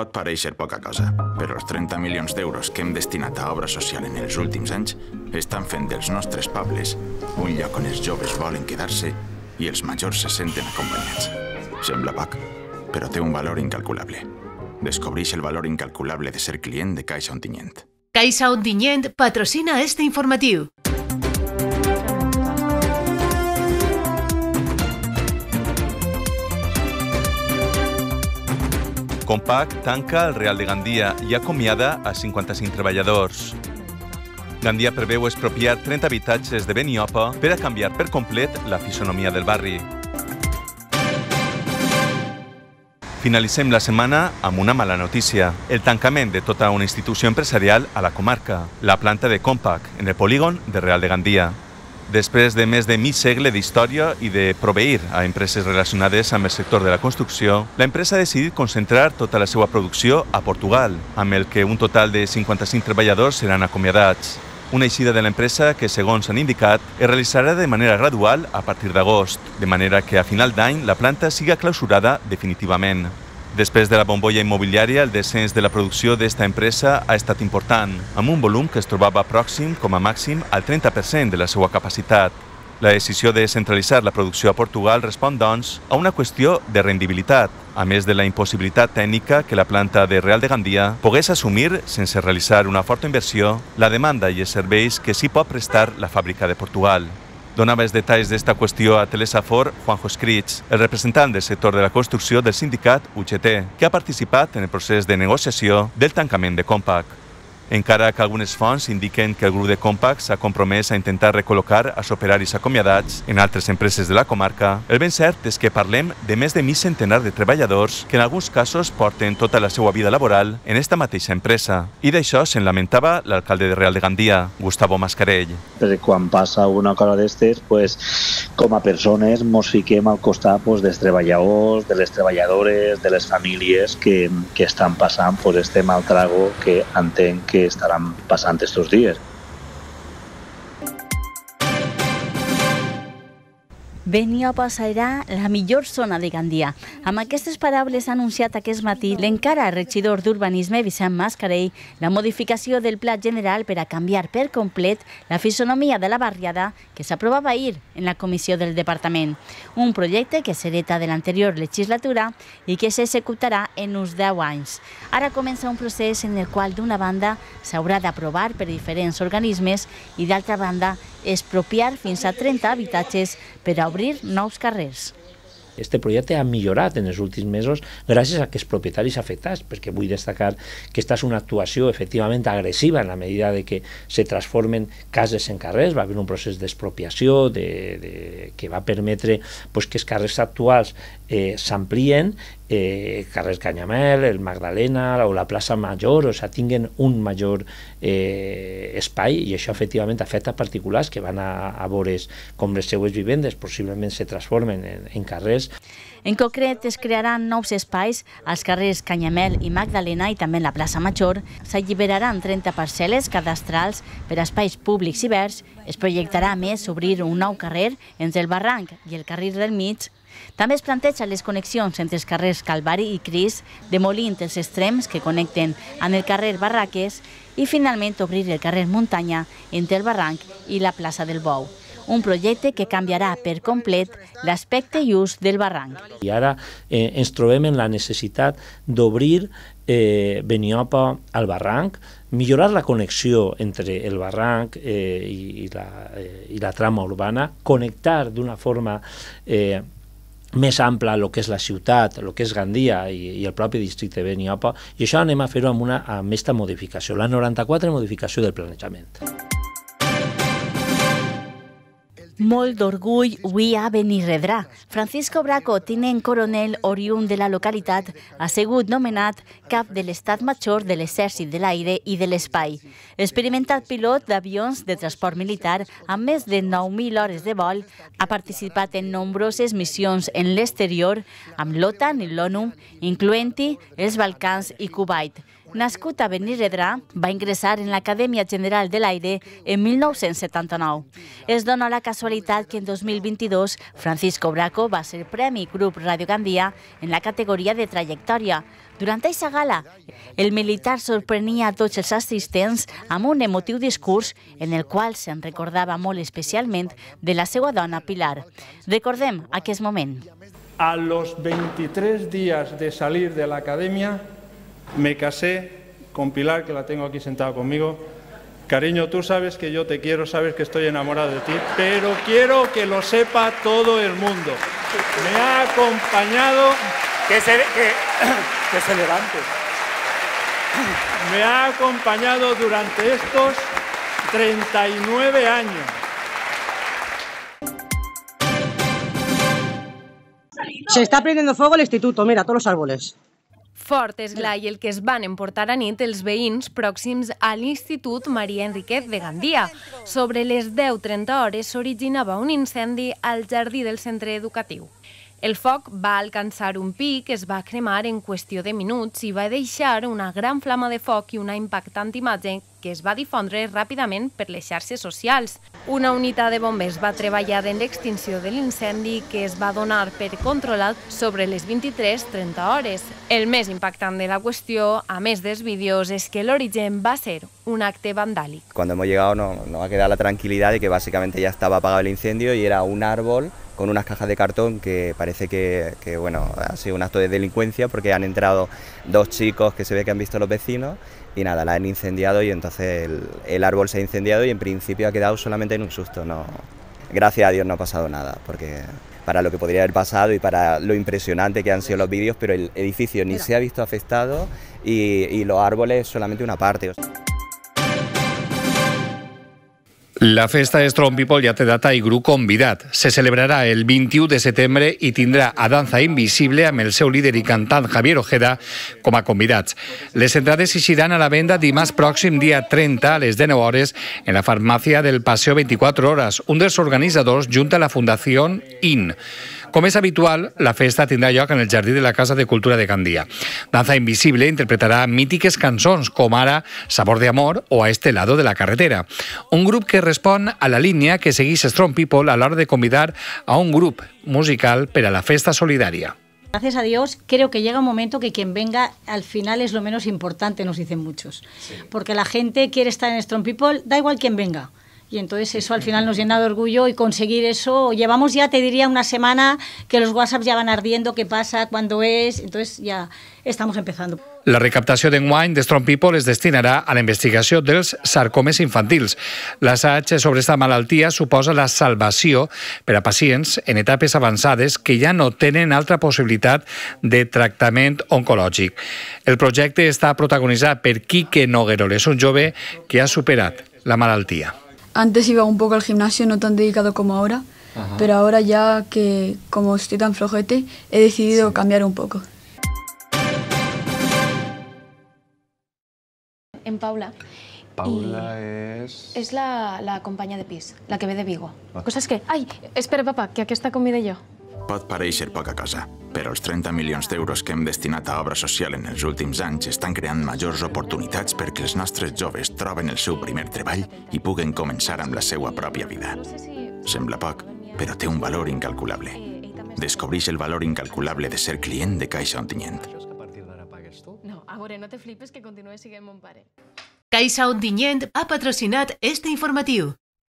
Pot pareixer poca cosa, però els 30 milions d'euros que hem destinat a obra social en els últims anys estan fent dels nostres pobles un lloc on els joves volen quedar-se i els majors se senten acompanyats. Sembla poc, però té un valor incalculable. Descobreix el valor incalculable de ser client de Caixa Ontinyent. Caixa Ontinyent patrocina este informatiu. Compaq tanca el Real de Gandia i acomiada a 55 treballadors. Gandia preveu expropiar 30 habitatges de Beniopa per a canviar per complet la fisonomia del barri. Finalitzem la setmana amb una mala notícia, el tancament de tota una institució empresarial a la comarca, la planta de Compaq, en el polígon de Real de Gandia. Després de més de mig segle d'història i de proveir a empreses relacionades amb el sector de la construcció, la empresa ha decidit concentrar tota la seva producció a Portugal, amb el que un total de 55 treballadors seran acomiadats. Una eixida de l'empresa que, segons han indicat, es realitzarà de manera gradual a partir d'agost, de manera que a final d'any la planta siga clausurada definitivament. Després de la bombolla immobiliària, el descens de la producció d'esta empresa ha estat important, amb un volum que es trobava pròxim com a màxim al 30% de la seva capacitat. La decisió de centralitzar la producció a Portugal respon, doncs, a una qüestió de rendibilitat, a més de la impossibilitat tècnica que la planta de Real de Gandia pogués assumir, sense realitzar una forta inversió, la demanda i els serveis que s'hi pot prestar la fàbrica de Portugal. Donava els detalls d'esta qüestió a Telesafor Juanjo Escrits, el representant del sector de la construcció del sindicat UGT, que ha participat en el procés de negociació del tancament de Compaq. Encara que algunes fonts indiquen que el grup de Compaq s'ha compromès a intentar recol·locar els operaris acomiadats en altres empreses de la comarca, el ben cert és que parlem de més de mig centenar de treballadors que en alguns casos porten tota la seva vida laboral en esta mateixa empresa. I d'això se'n lamentava l'alcalde de Real de Gandia, Gustavo Mascarell. Quan passa una cosa d'estes, com a persones ens fiquem al costat dels treballadors, de les treballadores, de les famílies que estan passant este mal trago que entenc que estaran passant estos dies. Beniopa serà la millor zona de Gandia. Amb aquestes paraules ha anunciat aquest matí l'encara regidor d'Urbanisme, Vicent Mascarell, la modificació del Pla General per a canviar per complet la fisonomia de la barriada que s'aprovava ahir en la comissió del departament. Un projecte que s'hereta de l'anterior legislatura i que s'executarà en uns 10 anys. Ara comença un procés en el qual, d'una banda, s'haurà d'aprovar per diferents organismes i, d'altra banda, expropiar fins a 30 habitatges per a obrir nous carrers. Este projecte ha millorat en els últims mesos gràcies a aquests propietaris afectats, perquè vull destacar que aquesta és una actuació efectivament agressiva en la medida de que se transformen cases en carrers. Va haver un procés d'expropiació que va permetre que els carrers actuals s'amplien, carrer Canyamel, el Magdalena o la plaça Major, tinguen un major espai, i això efectivament afecta particulars que van a veure com les seues vivendes possiblement se transformen en carrers. En concret, es crearan nous espais als carrers Canyamel i Magdalena i també en la plaça Major. S'alliberaran 30 parcel·les cadastrals per a espais públics i verds. Es projectarà, a més, obrir un nou carrer entre el Barranc i el Carril del Mig. També es planteja les connexions entre els carrers Calvari i Cris, demolint els extrems que connecten amb el carrer Barraques i, finalment, obrir el carrer Muntanya entre el Barranc i la plaça del Bou. Un projecte que canviarà per complet l'aspecte i ús del barranc. I ara ens trobem en la necessitat d'obrir Beniopa al barranc, millorar la connexió entre el barranc i la trama urbana, connectar d'una forma més ampla el que és la ciutat, el que és Gandia i el propi districte de Beniopa, i això anem a fer-ho amb aquesta modificació, la 94 modificació del planejament. Molt d'orgull avui a Benirredrà. Francisco Braco, tinent coronel oriünd de la localitat, ha sigut nomenat cap de l'Estat Major de l'Exèrcit de l'Aire i de l'Espai. Experimentat pilot d'avions de transport militar amb més de 9.000 hores de vol, ha participat en nombroses missions en l'exterior amb l'OTAN i l'ONU, incloent-hi els Balcans i Kuwait. Nascut a Benirredrà, va ingressar en l'Acadèmia General de l'Aire en 1979. Es dona la casualitat que en 2022 Francisco Braco va ser Premi Grup Radio Gandia en la categoria de trajectòria. Durant aquesta gala, el militar sorprenia a tots els assistents amb un emotiu discurs en el qual se'n recordava molt especialment de la seva dona Pilar. Recordem aquest moment. A los 23 días de salir de la academia, me casé con Pilar, que la tengo aquí sentada conmigo. Cariño, tú sabes que yo te quiero, sabes que estoy enamorado de ti, pero quiero que lo sepa todo el mundo. Me ha acompañado... Que se levante. Me ha acompañado durante estos 39 años. Se está prendiendo fuego el instituto, mira, todos los árboles. Fort és l'ai el que es van emportar a nit els veïns pròxims a l'Institut Maria Enriquez de Gandia. Sobre les 10:30 hores s'originava un incendi al jardí del centre educatiu. El foc va alcançar un pic, es va cremar en qüestió de minuts i va deixar una gran flama de foc i una impactant imatge que es va difondre ràpidament per les xarxes socials. Una unitat de bombers va treballar en l'extinció de l'incendi que es va donar per controlat sobre les 23:30 hores. El més impactant de la qüestió, a més dels vídeos, és que l'origen va ser un acte vandàlic. Cuando hemos llegado nos ha quedado la tranquilidad de que básicamente ya estaba apagado el incendio y era un árbol con unas cajas de cartón que parece que bueno, ha sido un acto de delincuencia porque han entrado dos chicos que se ve que han visto los vecinos y nada, la han incendiado y entonces el árbol se ha incendiado y en principio ha quedado solamente en un susto. No, gracias a Dios no ha pasado nada, porque para lo que podría haber pasado y para lo impresionante que han sido los vídeos, pero el edificio ni se ha visto afectado y los árboles solamente una parte. La festa Strong People ja té data i grup convidat. Se celebrarà el 21 de setembre i tindrà a Danza Invisible amb el seu líder i cantant Javier Ojeda com a convidats. Les entrades s'ixiran a la venda dimarts pròxim, dia 30, a les 19 hores, en la farmàcia del Paseo 24 Hores. Un dels organitzadors junta la Fundació IN. Com és habitual, la festa tindrà lloc en el Jardí de la Casa de Cultura de Gandia. Danza Invisible interpretarà mítiques cançons com ara Sabor de Amor o A este lado de la carretera. Un grup que respon a la línia que segueix Strong People a l'hora de convidar a un grup musical per a la festa solidària. Gracias a Dios, creo que llega un momento que quien venga al final es lo menos importante, nos dicen muchos. Sí. Porque la gente quiere estar en Strong People, da igual quien venga. Y entonces eso al final nos llena de orgullo y conseguir eso. Llevamos ya, te diría, una semana que los WhatsApps ya van ardiendo, qué pasa, cuándo es, entonces ya estamos empezando. La recaptació d'enguany de Strong People es destinarà a la investigació dels sarcomes infantils. L'assaig sobre aquesta malaltia suposa la salvació per a pacients en etapes avançades que ja no tenen altra possibilitat de tractament oncològic. El projecte està protagonitzat per Quique Nogueroles, un jove que ha superat la malaltia. Antes iba un poco al gimnasio, no tan dedicado como ahora, pero ahora ya que como estoy tan flojete, he decidido cambiar un poco. En Paula. Paula és la companya de pis, la que ve de Vigo. Coses que... Ai, espera, papa, que aquesta convida jo. Pot parèixer poca cosa, però els 30 milions d'euros que hem destinat a obra social en els últims anys estan creant majors oportunitats perquè els nostres joves troben el seu primer treball i puguen començar amb la seva pròpia vida. Sembla poc, però té un valor incalculable. Descobreix el valor incalculable de ser client de Caixa Ontinyent. No, a veure, no te flipes que continuï sent mon pare. Caixa Ontinyent ha patrocinat este informatiu.